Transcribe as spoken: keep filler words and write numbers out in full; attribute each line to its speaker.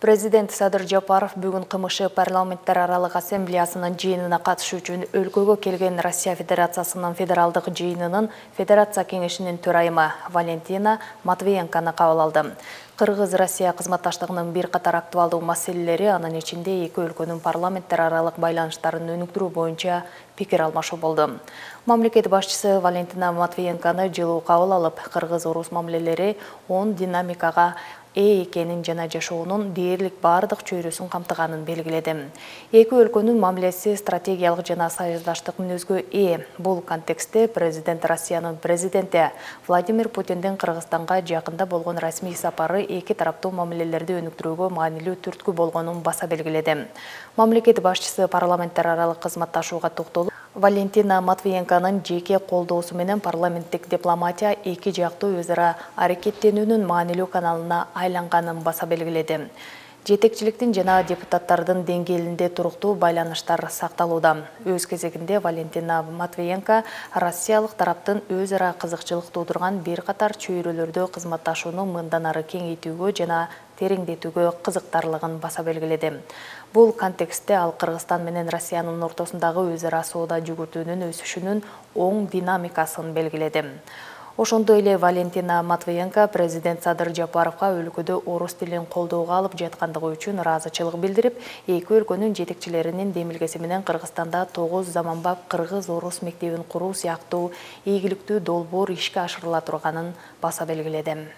Speaker 1: Президент Садыр Жапаров бүгүн КМШ парламенттер аралык ассамблеясынын жыйынына катышуу үчүн өлкөгө келген Россия Федерациясынын федералдык жыйынынын Федерация кеңешинин төрайымы Валентина Матвиенкону кабыл алды. Кыргыз-Россия кызматташтыгынын бир катар актуалдуу маселелери, анын ичинде эки өлкөнүн парламенттер аралык байланыштарын өнүктүрүү боюнча пикир алмашуу болду. Мамлекет башчысы Валентина Матвиенкону жылуу кабыл алып, кыргыз-орус мамилелери оң динамикага ээ экенин жана жашоонун дээрлик бардык чөйрөсүн камтыганын белгиледи. Эки өлкөнүн мамилеси стратегиялык жана союздаштык мүнөзгө ээ. Бул контекстте президент Россиянын президенти Владимир Путиндин Кыргызстанга жакында болгон расмий сапары эки тараптуу мамилелерди өнүктүрүүгө маанилүү түрткү болгонун баса белгиледи. Мамлекет башчысы парламенттер аралык кызматташууга токтолуп, Валентина Матвиенконун жеке колдоосу менен парламенттик дипломатия эки жактуу өз ара аракеттенүүнүн маанилүү каналына айланганын баса белгиледи. Жетекчиликтин жана депутаттардын деңгээлинде туруктуу байланыштар сакталууда. Өз кезегинде Валентина Матвиенко Россиялык тараптын өз ара кызыкчылык туудурган бир катар чөйрөлөрдө кызматташууну мындан ары кеңейтүүгө жана тереңдетүүгө кызыктарлыгын баса белгиледи. Бул контекстте ал Кыргызстан менен Россиянын ортосундагы өз ара соода жүгүртүүнүн өсүшүнүн оң динамикасын белгиледи. Ошондой эле Валентина Матвиенко президент Садыр Жапаровго өлкөдө орус тилин колдоого алып жаткандыгы үчүн ыраазычылык билдирип, эки өлкөнүн жетекчилеринин демилгеси менен Кыргызстанда тогуз заманбап кыргыз-орус мектебин куруу сыяктуу ийгиликтүү долбоор ишке ашырыла турганын баса белгиледи.